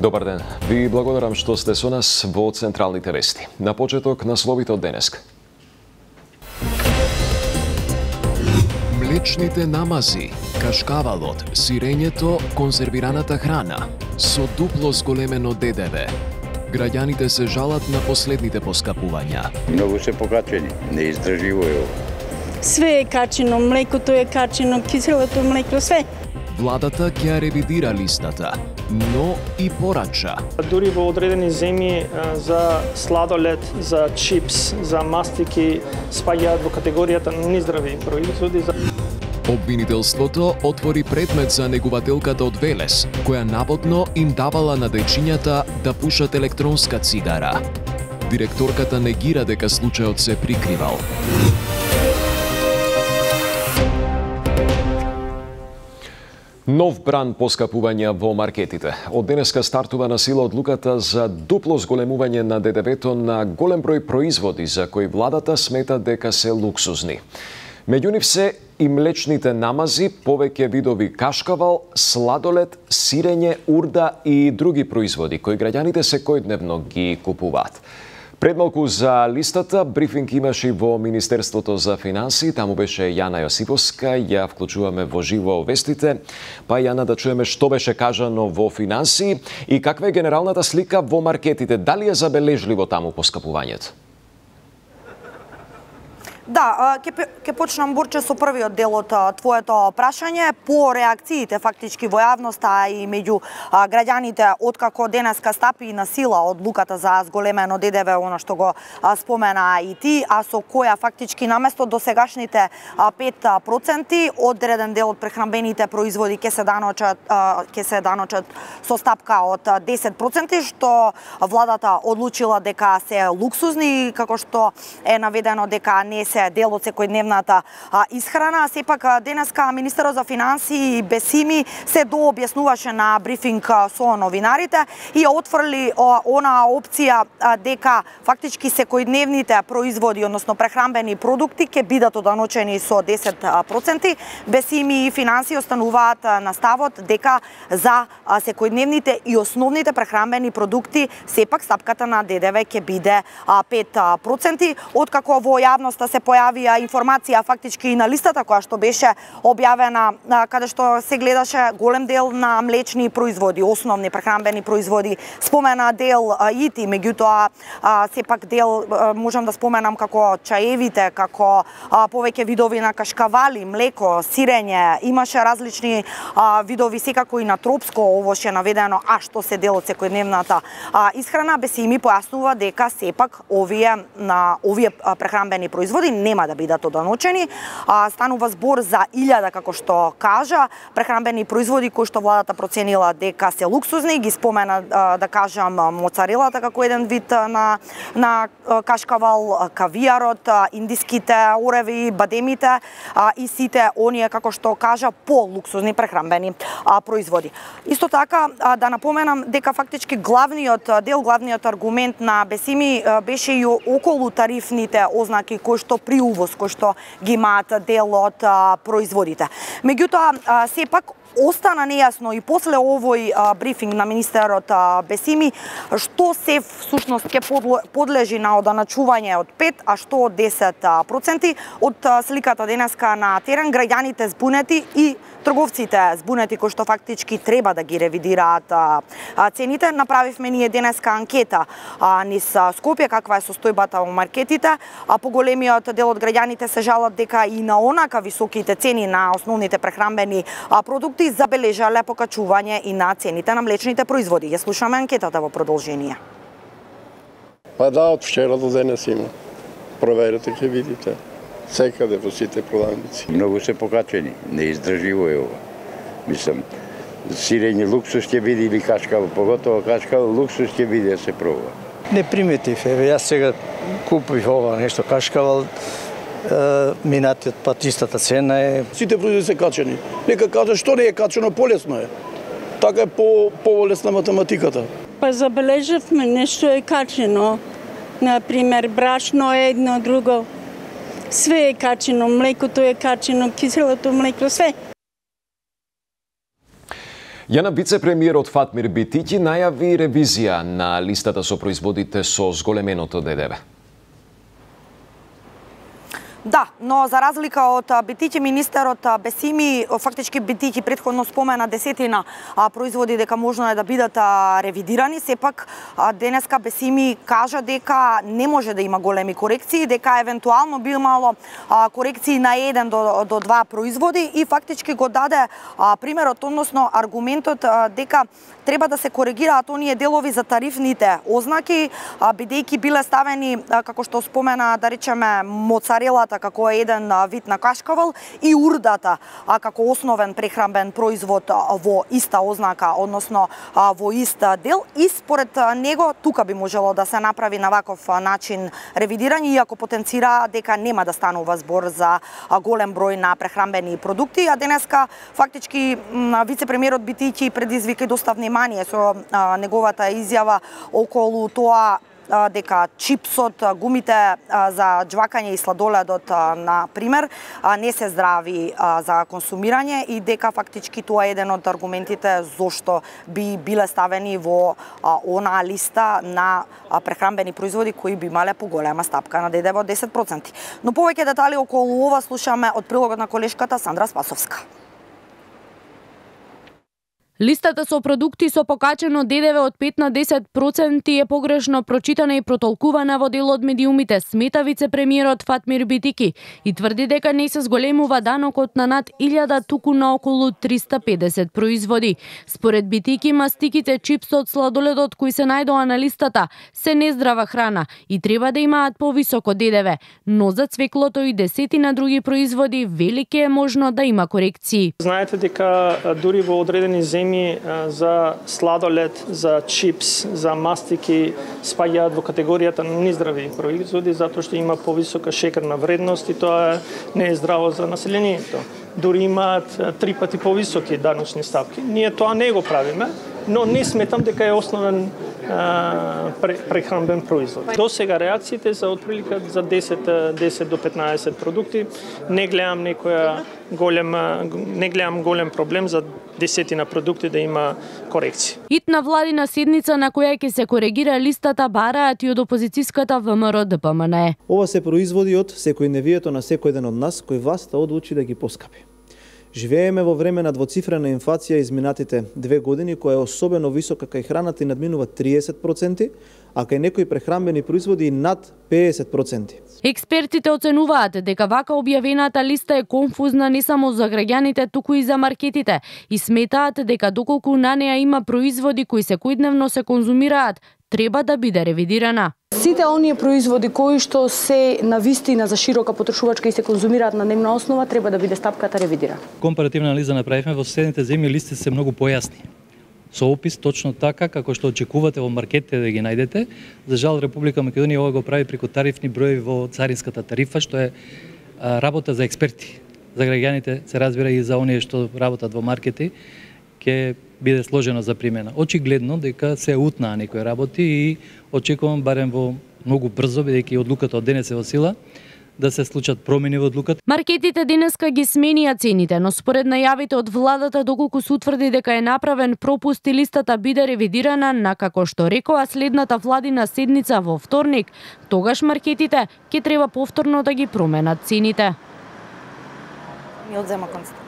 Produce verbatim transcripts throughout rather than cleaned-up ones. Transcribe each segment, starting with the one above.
Добар ден. Ви благодарам што сте со нас во Централните вести. На почеток насловите од денеска. Млечните намази, кашкавалот, сирењето, конзервираната храна со дупло зголемено Д Д В. Граѓаните се жалат на последните поскапувања. Многу се покачени, не издрживо е ова. Све е качено, млекото е качено, киселото млеко, све. Владата ќе ја ревидира листата, но и порача. Дури во одредени земји за сладолед, за чипс, за мастики спаѓаат во категоријата нездрави производи. Обвинителството отвори предмет за негувателката од Велес, која наводно им давала на дечињата да пушат електронска цигара. Директорката негира дека случајот се прикривал. Нов бран поскапувања во маркетите. Од денеска стартува на сила одлуката за дупло зголемување на Д Д В-то на голем број производи за кои владата смета дека се луксузни. Меѓу нив се и млечните намази, повеќе видови кашкавал, сладолед, сирење, урда и други производи кои граѓаните секојдневно ги купуваат. Пред малку за листата, брифинг имаше во Министерството за финансии, таму беше Јана Јосиповска, ја вклучуваме во живо вестите. Па Јана, да чуеме што беше кажано во финансии и каква е генералната слика во маркетите, дали е забележливо таму поскапувањето? Да, ќе ќе почнам Борче со првиот дел од твоето прашање. По реакциите фактички во јавноста и меѓу граѓаните откако денеска стапи на сила одлуката за зголемено Д Д В, она што го спомена и ти, а со која фактички наместо досегашните пет проценти одреден дел од прехранбените производи ќе се даночат ќе се даночат со стапка од десет проценти, што владата одлучила дека се луксузни, како што е наведено дека не се дел од секојдневната исхрана. Сепак денеска министерот за финансии Бесими се дообјаснуваше на брифинг со новинарите и отфрли она опција дека фактички секојдневните производи, односно прехранбени продукти ќе бидат оданочени со десет проценти. Бесими и финансии остануваат на ставот дека за секојдневните и основните прехранбени продукти сепак стапката на Д Д В ќе биде пет проценти. Откако во јавноста се појавија информација фактички и на листата која што беше објавена, каде што се гледаше голем дел на млечни производи, основни прехранбени производи, спомена дел и ти, меѓутоа сепак дел можам да споменам како чаевите, како повеќе видови на кашкавали, млеко, сирење, имаше различни видови секако и на тропско овоше наведено, а што се дел од секојдневната исхрана. Бесими појаснува дека сепак овие на овие прехранбени производи нема да бидат оданочени. Станува збор за илјада, како што кажа, прехранбени производи кои што владата проценила дека се луксузни, ги спомена да кажам моцарелата како еден вид на на кашкавал, кавијарот, индиските ореви, бадемите и сите оние како што кажа по луксузни прехранбени производи. Исто така да напоменам дека фактички главниот дел, главниот аргумент на Бесими беше и околу тарифните ознаки кои што при увоз, кои што ги имаат дел од производите. Меѓутоа, сепак, остана нејасно и после овој а, брифинг на министерот а, Бесими што се всушност ќе подлежи на оданачување од пет, а што од десет проценти. Од а, сликата денеска на терен граѓаните збунети и трговците збунети кои што фактички треба да ги ревидираат а, а, цените. Направивме ние денеска анкета а, низ Скопје каква е состојбата во маркетите. А поголемиот дел од граѓаните се жалат дека и на онака високите цени на основните прехранбени а, продукти забележале покачување и на цените на млечните производи. Ја слушаме анкетата во продолжение. Па да, од вчера до денес има. Проверете, ќе видите. Секаде во сите продавници. Многу се покачени, не издрживо е ова. Мислам, сирење луксус ќе биде или кашкавал, поготово кашкавал луксус ќе биде да се пробува. Не приметив, еве јас сега купив ова нешто кашкавал, минатиот пат истата цена е. Сите производи се качени. Нека кажа што не е качено, полесно е. Така е по полесна математиката. Па забележавме нешто е качено. Например, брашно е едно друго. Све е качено, млекото е качено, киселото млеко, све. Јана вице-премиерот Фатмир Битики најави ревизија на листата со производите со зголеменото ДДВ. Да, но за разлика од Битики, министерот Бесими, фактички Битики претходно спомена десетина производи дека можно е да бидат ревидирани, сепак денеска Бесими кажа дека не може да има големи корекции, дека евентуално би имало корекции на еден до, до два производи и фактички го даде примерот, односно аргументот дека треба да се коригираат оние делови за тарифните ознаки, бидејќи биле ставени, како што спомена, да речеме, моцарелата како еден вид на кашкавал и урдата како основен прехранбен производ во иста ознака, односно во ист дел, и според него тука би можело да се направи на ваков начин ревидирање, иако потенцира дека нема да станува збор за голем број на прехранбени продукти, а денеска фактички вице-премиерот Битики предизвика доста внимание со неговата изјава околу тоа дека чипсот, гумите за џвакање и сладоледот, на пример, не се здрави за консумирање и дека фактички тоа е еден од аргументите зошто би биле ставени во онаа листа на прехранбени производи кои би имале поголема стапка на ДДВ од десет проценти. Но повеќе детали околу ова слушаме од прилогот на колешката Сандра Спасовска. Листата со продукти со покачено ДДВ од пет на десет проценти е погрешно прочитана и протолкувана во дел од медиумите, смета вице-премиерот Фатмир Битики и тврди дека не се зголемува данокот на над илјада, туку на околу триста педесет производи. Според Битики, мастиките, чипсот, сладоледот кои се најдоа на листата се нездрава храна и треба да имаат повисоко ДДВ, но за цвеклото и десетина други производи велики е можно да има корекции. Знаете дека дури во одредени земји за сладолед, за чипс, за мастики спаѓаат во категоријата на нездрави производи затоа што има повисока шекерна вредност и тоа не е здраво за населението. Дури имаат три пати повисоки даночни стапки. Ние тоа не го правиме, но не сметам дека е основен а, прехранбен производ. До сега реакциите за отприлика за десет до петнаесет продукти. Не гледам некоја голема, не гледам голем проблем за десетина продукти да има корекции. Итна владина седница на која ќе се коригира листата бараат и од опозицијската ВМРО Д П М Н Е. Ова се производи од секојдневието на секој ден од нас кој власта одлучи да ги поскапи. Живееме во време на двоцифрена инфлација изминатите две години, која е особено висока кај храната и надминува триесет проценти, а кај некои прехранбени производи и над педесет проценти. Експертите оценуваат дека вака објавената листа е конфузна не само за граѓаните, туку и за маркетите и сметаат дека доколку на неа има производи кои секојдневно се конзумираат, треба да биде ревидирана. Сите оние производи кои што се навистина за широка потрошувачка и се конзумираат на дневна основа, треба да биде стапката ревидирана. Компаративна анализа направивме, во соседните земји листите се многу појасни. Со опис точно така како што очекувате во маркетите да ги најдете. За жал Република Македонија ова го прави преку тарифни броеви во царинската тарифа, што е а, работа за експерти. За граѓаните се разбира и за оние што работат во маркети, ќе биде сложено за примена. Очигледно дека се утнаа некои работи и очекувам барем во многу брзо, бидејќи одлуката од денес е во сила, да се случат промени во одлуката. Маркетите денеска ги сменија цените, но според најавите од владата, доколку се утврди дека е направен пропуст и листата биде ревидирана на како што рекоа следната владина седница во вторник, тогаш маркетите ќе треба повторно да ги променат цените. Ми одзема констат.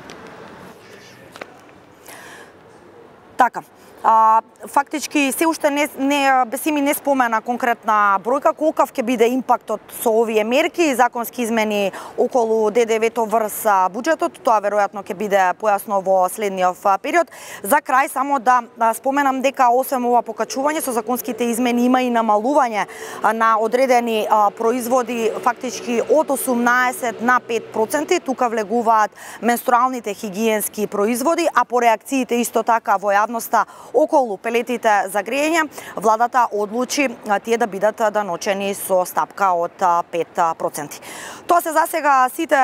Така. А, фактички се уште не, не Бесими не спомена конкретна бројка колкав ќе биде импактот со овие мерки и законски измени околу ДДВ-то врз буџетот. Тоа веројатно ќе биде појасно во следниот период. За крај само да споменам дека освен ова покачување со законските измени има и намалување на одредени а, производи фактички од осумнаесет на пет проценти. Тука влегуваат менструалните хигиенски производи, а по реакциите исто така во јавноста околу пелетите за грејење, владата одлучи тие да бидат даночени со стапка од пет проценти. Тоа се засега сите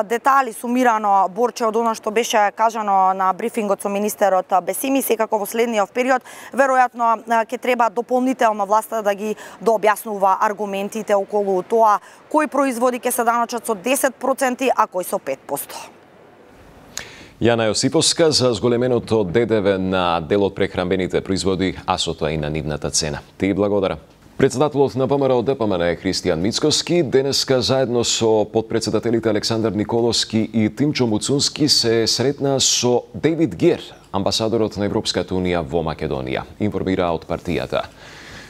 детали сумирано, Борче, од она што беше кажано на брифингот со министерот Бесими. Секако во следниот период веројатно ќе треба дополнително власта да ги дообјаснува аргументите околу тоа кои производи ќе се даночат со десет проценти, а кои со пет проценти. Јана Јосиповска за зголеменото Д Д В на дел од прехранбените производи, а со тоа и на нивната цена. Ти благодарам. Председателот на ВМРО Д П М Н Христијан Мицкоски денеска заедно со подпредседателите Александар Николовски и Тимчо Муцунски се сретна со Дейвид Гер, амбасадорот на Европската Унија во Македонија, информира од партијата.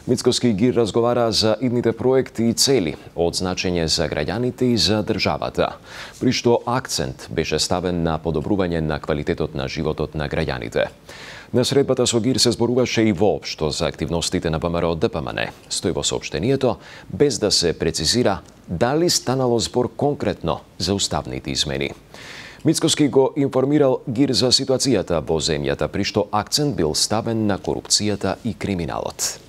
Мицкоски и Гир разговара за идните проекти и цели од значење за граѓаните и за државата, при што акцент беше ставен на подобрување на квалитетот на животот на граѓаните. На средбата со Гир се зборуваше и воопшто за активностите на ВМРО Д П М Н. Стои во соопштението, без да се прецизира дали станало збор конкретно за уставните измени. Мицкоски го информирал Гир за ситуацијата во земјата, при што акцент бил ставен на корупцијата и криминалот.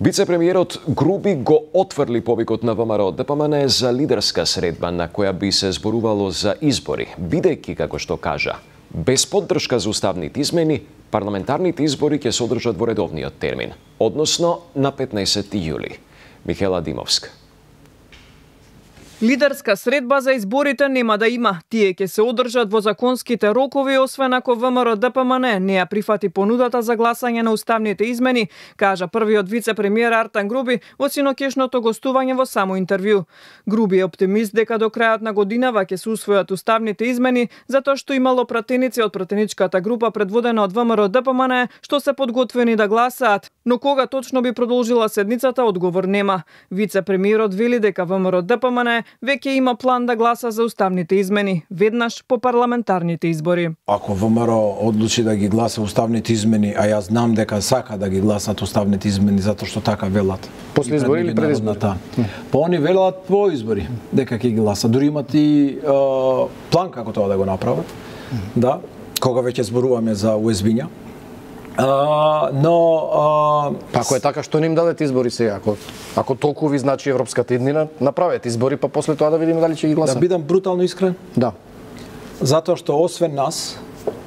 Вице-премиерот Груби го отфрли повикот на ВМРО Д П М Н за лидерска средба на која би се зборувало за избори, бидејќи, како што кажа, без поддршка за уставните измени, парламентарните избори ќе се одржат во редовниот термин, односно на петнаесети јули. Михела Димовска. Лидерска средба за изборите нема да има. Тие ќе се одржат во законските рокови, освен ако ВМРО Д П М Н не ја прифати понудата за гласање на уставните измени, кажа првиот вице-премиер Артан Груби во синоќешното гостување во само интервју. Груби е оптимист дека до крајот на годинава ќе се усвојат уставните измени, затоа што имало пратеници од пратеничката група предводена од ВМРО Д П М Н што се подготвени да гласаат, но кога точно би продолжила седницата, одговор нема. Вице-премиерот вели дека ВМРО Д П М Н веќе има план да гласа за уставните измени, веднаш по парламентарните избори. Ако ВМРО одлучи да ги гласа уставните измени, а јас знам дека сака да ги гласат уставните измени затоа што така велат. После избори или пред избори? Па они велат по избори дека ќе ги гласат. Дури имат и е, план како тоа да го направат. Да, кога веќе зборуваме за У Ес Би-ња. Uh, но uh, па ако е така, што не им дадете избори сега? Ако, ако толку ви значи европската иднина, направете избори, па после тоа да видиме дали ќе ги гласат. Да бидам брутално искрен? Да. Затоа што освен нас,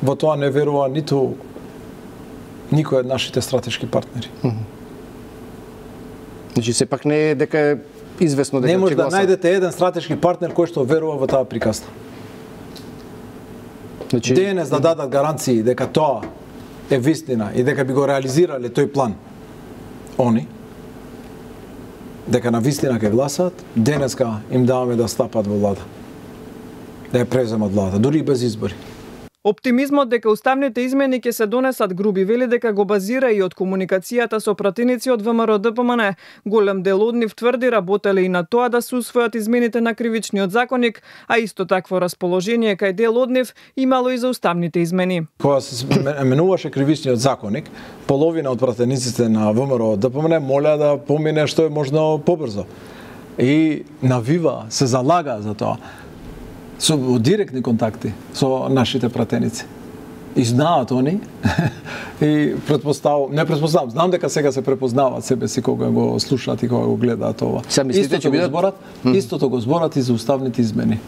во тоа не верува ниту никој од нашите стратешки партнери. Mm -hmm. Значи сепак не е дека е известно дека ќе гласат. Не може да најдете еден стратешки партнер кој што верува во таа приказна. Значи денес да дадат гаранции дека тоа е вистина и дека би го реализирале тој план они, дека на вистина ќе гласат, денеска им даваме да стапат во влада, да ја преземат влада, дури и без избори. Оптимизмот дека уставните измени ќе се донесат, Груби вели дека го базира и од комуникацијата со пратеници од ВМРО Д П М Н. Голем дел од нив тврди работеле и на тоа да се усвојат измените на кривичниот законник, а исто такво расположение кај дел од нив имало и за уставните измени. Кога се менуваше кривичниот законник, половина од пратениците на ВМРО Д П М Н молеа да помине што е можно побрзо. И навива се залага за тоа. Со директни контакти со нашите пратеници. И знаат они, и предпоставам, не предпоставам, знам дека сега се препознават себе си кога го слушаат и кога го гледаат ова. Истото го зборат, истото го зборат и за уставните измени.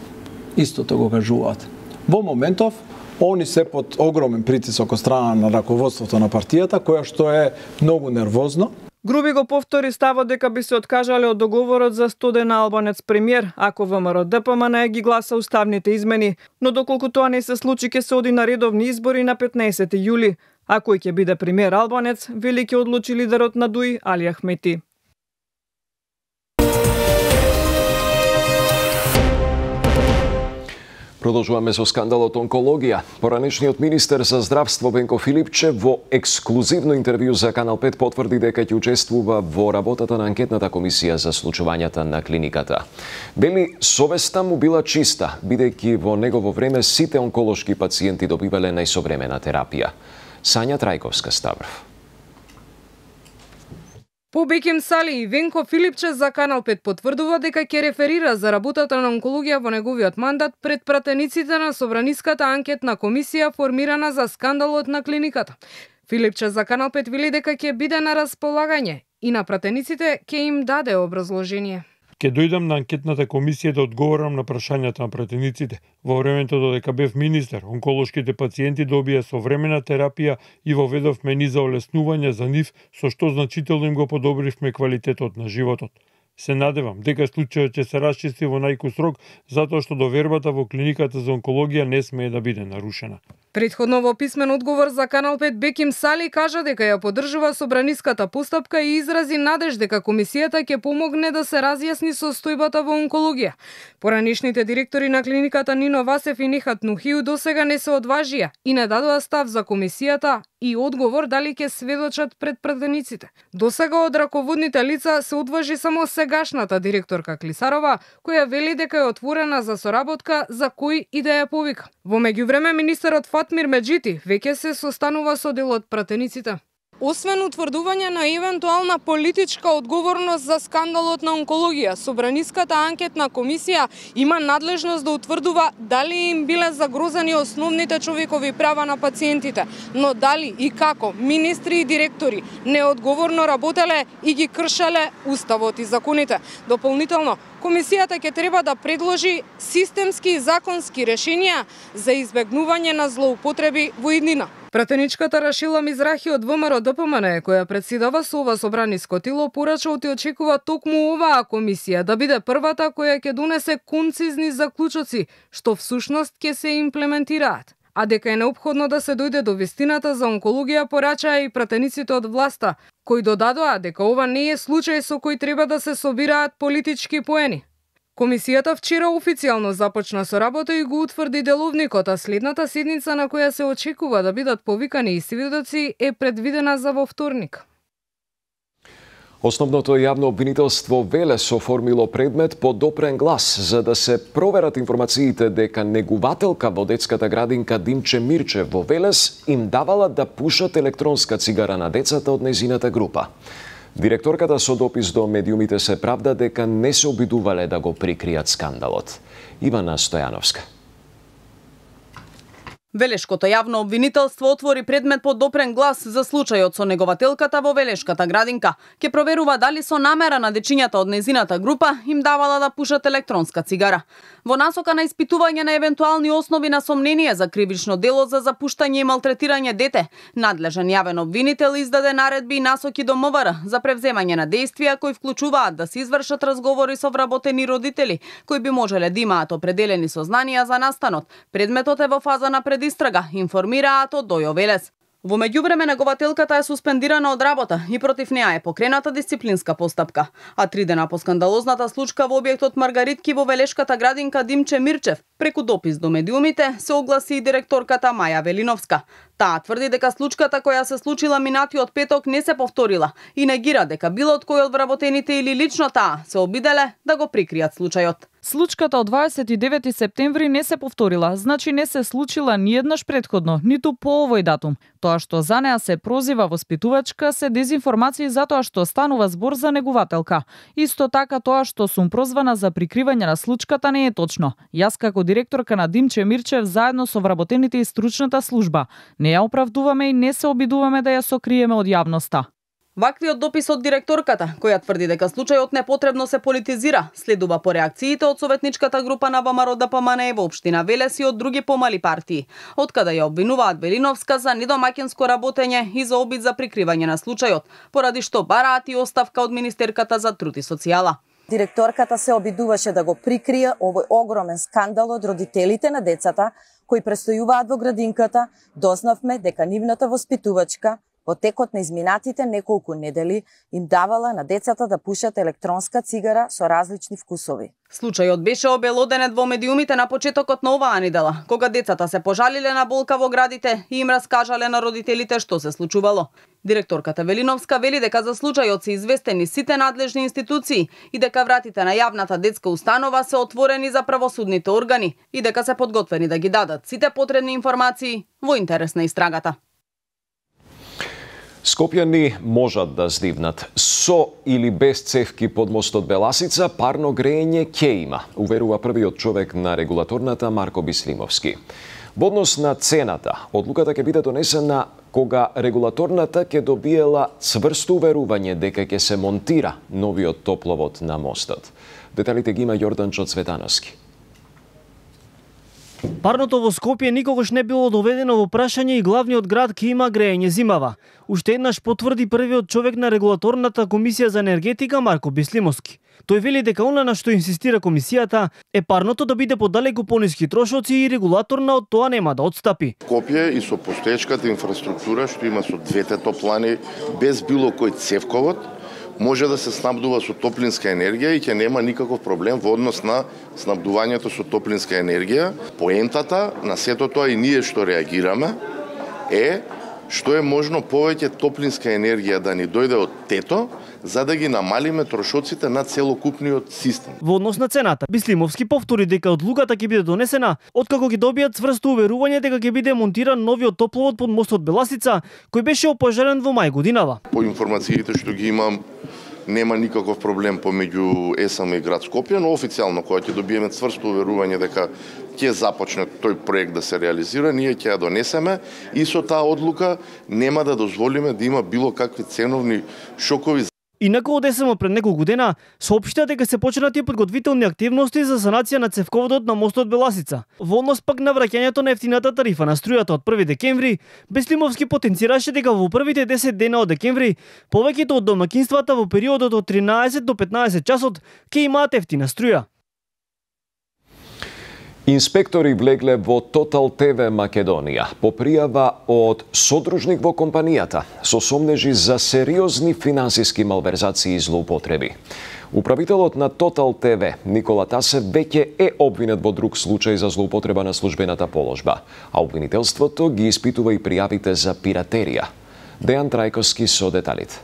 Истото го кажуваат. Во моментов, они се под огромен притисок од страна на раководството на партијата, која што е многу нервозно. Груби го повтори ставот дека би се откажале од договорот за стоден албанец премиер, ако ВМРО Д П М Н ги гласа уставните измени, но доколку тоа не се случи, ќе се оди на редовни избори на петнаесети јули. А кој ќе биде премиер албанец, вели ќе одлучи лидерот на Д У И Али Ахмети. Продолжуваме со скандалот онкологија. Поранешниот министер за здравство Венко Филипче во ексклузивно интервју за Канал пет потврди дека ќе учествува во работата на анкетната комисија за случувањата на клиниката. Вели, совеста му била чиста, бидејќи во негово време сите онколошки пациенти добивале најсовремена терапија. Сања Трајковска Ставров. По Бекем Сали и Венко Филипче за Канал пет потврдува дека ќе реферира за работата на онкологија во неговиот мандат пред пратениците на Собраниската анкетна комисија формирана за скандалот на клиниката. Филипче за Канал пет вели дека ќе биде на располагање и на пратениците ќе им даде образложение. Ке дојдам на анкетната комисија да одговорам на прашањата на пратениците. Во времето додека бев министер, онколошките пациенти добија современа терапија и воведовме низа олеснување за нив, со што значително им го подобривме квалитетот на животот. Се надевам дека случајот ќе се расчисти во најкус рок, затоа што довербата во клиниката за онкологија не смее да биде нарушена. Предходно во писмен одговор за Канал пет Беким Сали кажа дека ја поддржува собраниската постапка и изрази надеж дека комисијата ќе помогне да се разјасни состојбата во онкологија. Поранишните директори на клиниката Нино Васев и Нихат Нухиу досега не се одважија и не дадоа став за комисијата и одговор дали ќе сведочат пред пратениците. Досега од раководните лица се одважи само сегашната директорка Клисарова, која вели дека е отворена за соработка за кој и да ја повика. Во меѓувреме министерот Фатмир Меджити веќе се состанува со дел од пратениците. Освен утврдување на евентуална политичка одговорност за скандалот на онкологија, Собраниската анкетна комисија има надлежност да утврдува дали им биле загрозени основните човекови права на пациентите, но дали и како министри и директори неодговорно работеле и ги кршеле уставот и законите. Дополнително, комисијата ќе треба да предложи системски и законски решенија за избегнување на злоупотреби во иднина. Пратеничката Рашила Мизрахи од ВМРО Д П М Н, која председава со ова собраниско тело, порача и очекува токму оваа комисија да биде првата која ќе донесе концизни заклучоци, што всушност ќе се имплементираат. А дека е неопходно да се дојде до вистината за онкологија, порачаа и пратениците од власта, кои додадоа дека ова не е случај со кој треба да се собираат политички поени. Комисијата вчера официјално започна со работа и го утврди деловникот, а следната седница на која се очекува да бидат повикани и сведоци е предвидена за во вторник. Основното јавно обвинителство Велес оформило предмет по допрен глас за да се проверат информациите дека негувателка во детската градинка Димче Мирчев во Велес им давала да пушат електронска цигара на децата од нејзината група. Директорката со допис до медиумите се правда дека не се обидувале да го прикријат скандалот. Ивана Стојановска. Велешкото јавно обвинителство отвори предмет по допрен глас за случајот со негователката во Велешката градинка. Ке проверува дали со намера на дечињата од нејзината група им давала да пушат електронска цигара. Во насока на испитување на евентуални основи на сомнение за кривично дело за запуштање и малтретирање дете, надлежен јавен обвинител издаде наредби и насоки до М В Р за превземање на действија кои вклучуваат да се извршат разговори со вработени родители, кои би можеле да имаат определени сознанија за настанот. Предметот е во фаза на предистрага, информираат од Дојо Велес. Во меѓувреме негователката е суспендирана од работа и против неа е покрената дисциплинска постапка. А три дена по скандалозната случка во објектот Маргаритки во Велешката градинка Димче Мирчев, преку допис до медиумите, се огласи и директорката Маја Велиновска. Таа тврди дека случката која се случила минатиот петок не се повторила и негира дека било од кој од вработените или лично таа се обиделе да го прикријат случајот. Случката од дваесет и девети септември не се повторила, значи не се случила ни еднаш претходно, ниту по овој датум. Тоа што за неа се прозива воспитувачка се дезинформации затоа што станува збор за негувателка. Исто така тоа што сум прозвана за прикривање на случката не е точно. Јас како директорка на Димче Мирчев заедно со вработените и стручната служба не ја оправдуваме и не се обидуваме да ја сокриеме од јавноста. Ваквиот допис од директорката, која тврди дека случајот непотребно се политизира, следува по реакциите од советничката група на ВМРО Д П М Н во општина Велес и од други помали партии, од каде ја обвинуваат Велиновска за недомаќинско работење и за обид за прикривање на случајот, поради што бараат и оставка од министерката за труд и социјала. Директорката се обидуваше да го прикрие овој огромен скандал од родителите на децата кои престојуваат во градинката. Дознавме дека нивната воспитувачка во текот на изминатите неколку недели им давала на децата да пушат електронска цигара со различни вкусови. Случајот беше обелоденет во медиумите на почетокот на оваа недела, кога децата се пожалиле на болка во градите и им раскажале на родителите што се случувало. Директорката Велиновска вели дека за случајот се известени сите надлежни институции и дека вратите на јавната детска установа се отворени за правосудните органи и дека се подготвени да ги дадат сите потребни информации во интерес на истрагата. Скопјани можат да здивнат. Со или без цевки под мостот Беласица, парно грејење ќе има, уверува првиот човек на регулаторната Марко Бислимовски. Во однос на цената, одлуката ќе биде донесена кога регулаторната ќе добиела цврсто уверување дека ќе се монтира новиот топловод на мостот. Деталите ги има Јорданчо Цветановски. Парното во Скопје никогаш не било доведено во прашање и главниот град ќе има грејење зимава. Уште еднаш потврди првиот човек на регулаторната комисија за енергетика Марко Бислимовски. Тој вели дека она на што инсистира комисијата е парното да биде подалеку пониски трошоци и регулаторна од тоа нема да отстапи. Скопје и со постоечката инфраструктура што има со двете топлани, без било кој цевковод, може да се снабдува со топлинска енергија и ќе нема никаков проблем во однос на снабдувањето со топлинска енергија. Поентата на сето тоа и ние што реагираме е што е можно повеќе топлинска енергија да ни дојде од тето, за да ги намалиме трошоците на целокупниот систем. Во однос на цената, Бислимовски повтори дека одлуката ќе биде донесена откако ги добијат цврсто уверување дека ќе биде монтиран новиот топловод под мостот Беласица, кој беше опожарен во мај годинава. По информациите што ги имам, нема никаков проблем помеѓу ЕСАМ и град Скопје, но официјално кога ќе добиеме цврсто уверување дека ќе започне тој проект да се реализира, ние ќе ја донесеме и со таа одлука нема да дозволиме да има било какви ценовни шокови. Инаку од ЕСМ пред неколку дена соопштија дека се почнати подготвителни активности за санација на цевководот на мостот Беласица. Во однос пак на враќањето на ефтината тарифа на струјата од први декември, Беслимовски потенцираше дека во првите десет дена од декември повеќето од домакинствата во периодот од тринаесет до петнаесет часот ќе имаат ефтина струја. Инспектори влегле во Тотал ТВ Македонија по пријава од содружник во компанијата со сомнежи за сериозни финансиски малверзации и злоупотреби. Управителот на Тотал ТВ Никола Тасев веќе е обвинет во друг случај за злоупотреба на службената положба, а обвинителството ги испитува и пријавите за пиратерија. Дејан Трајковски со деталите.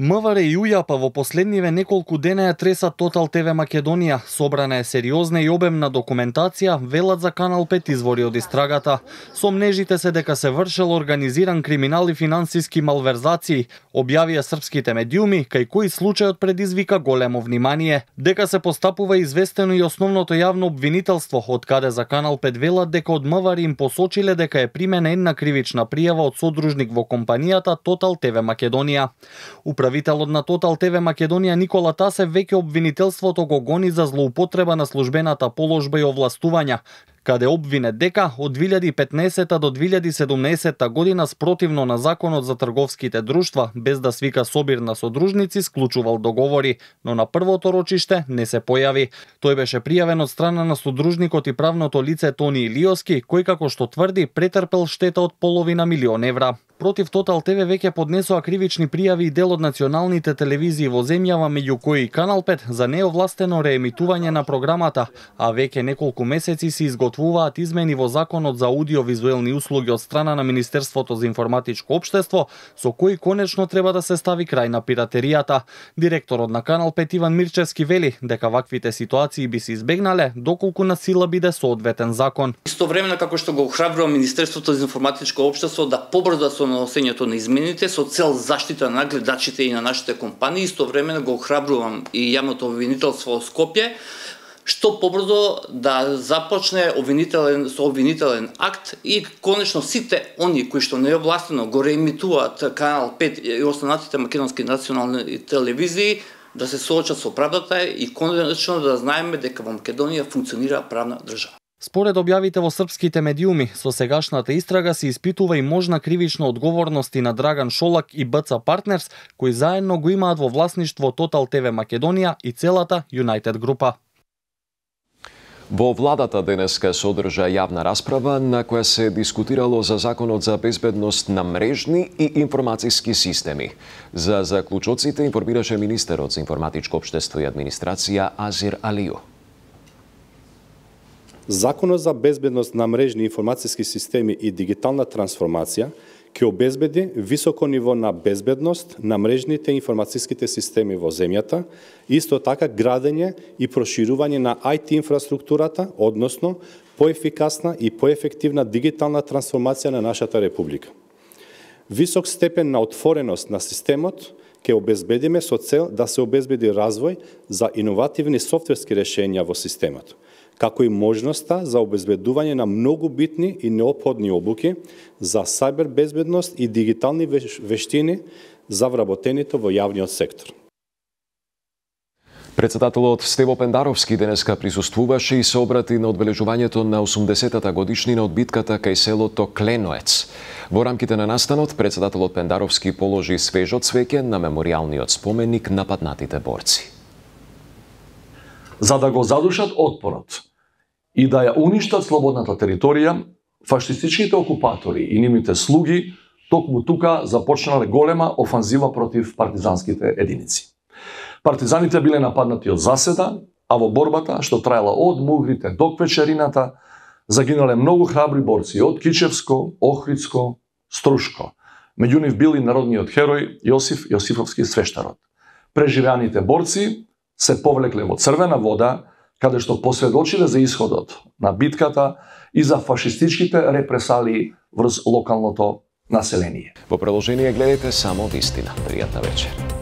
МВР и УЈАП во последниве неколку дена ја тресат Тотал ТВ Македонија. Собрана е сериозна и обемна документација, велат за Канал пет извори од истрагата. Сомнежите се дека се вршел организиран криминал и финансиски малверзации, објавија српските медиуми, кај кои случајот предизвика големо внимание. Дека се постапува известено и основното јавно обвинителство, од каде за Канал пет велат дека од МВР им посочиле дека е примена една кривична пријава од содружник во компанијата Тотал ТВ Македонија. Управителот на Тотал ТВ Македонија Никола Тасев веќе обвинителството го гони за злоупотреба на службената положба и овластувања, каде обвинет дека од две илјади и петнаесета до две илјади и седумнаесета година спротивно на законот за трговските друштва, без да свика собир на содружници, склучувал договори, но на првото рочиште не се појави. Тој беше пријавен од страна на содружникот и правното лице Тони Илиоски, кој како што тврди претрпел штета од половина милион евра. Против Тотал ТВ веќе поднесоа кривични пријави и дел од националните телевизии во земјава, меѓу кои и Канал пет за неовластено реемитување на програмата, а веќе неколку месеци се изготвуваат измени во Законот за аудиовизуелни услуги од страна на Министерството за информатичко општество, со кои конечно треба да се стави крај на пиратеријата. Директорот на Канал пет Иван Мирчевски вели дека ваквите ситуации би се избегнале доколку на сила биде соодветен закон. Истовремено како што го охрабрува Министерството за информатичко општество да побрза со носењето на измените со цел заштита на гледачите и на нашите компании, истовремено го охрабрувам и јавното обвинителство во Скопје што побрзо да започне обвинителен со обвинителен акт и конечно сите они кои што неовластено го реемитуваат Канал пет и останатите македонски национални телевизии да се соочат со правдата и конечно да знаеме дека во Македонија функционира правна држава. Според објавите во српските медиуми, со сегашната истрага се испитува и можна кривична одговорност и на Драган Шолак и БЦ Партнерс, кои заедно го имаат во власништво Тотал ТВ Македонија и целата Юнајтед група. Во владата денеска се одржа јавна расправа на која се дискутирало за Законот за безбедност на мрежни и информациски системи. За заклучоците информираше министерот за информатичко општество и администрација Азир Алију. Законот за безбедност на мрежни информациски системи и дигитална трансформација ќе обезбеди високо ниво на безбедност на мрежните информациските системи во земјата, исто така градење и проширување на ај ти инфраструктурата, односно поефикасна и поефективна дигитална трансформација на нашата република. Висок степен на отвореност на системот ќе обезбедиме со цел да се обезбеди развој за иновативни софтверски решенја во системот, како и можноста за обезбедување на многу битни и неопходни обуки за сајбер безбедност и дигитални вештини за вработените во јавниот сектор. Председателот Стево Пендаровски денеска присуствуваше и се обрати на одбележувањето на осумдесетата годишнина од битката кај селото Кленоец. Во рамките на настанот, председателот Пендаровски положи свежо цвеќе на меморијалниот споменик на паднатите борци. За да го задушат отпорот и да ја уништат слободната територија, фашистичките окупатори и нивните слуги токму тука започнале голема офанзива против партизанските единици. Партизаните биле нападнати од заседа, а во борбата, што траела од Мугрите до Квечерината, загинале многу храбри борци од Кичевско, Охридско, Струшко. Меѓу нив бил и народниот херој Јосиф Јосифовски свештарот. Преживеаните борци се повлекле во Црвена вода, каде што посведочиле за исходот на битката и за фашистичките репресалии врз локалното население. Во продолжение гледате само вистина. Пријатна вечер.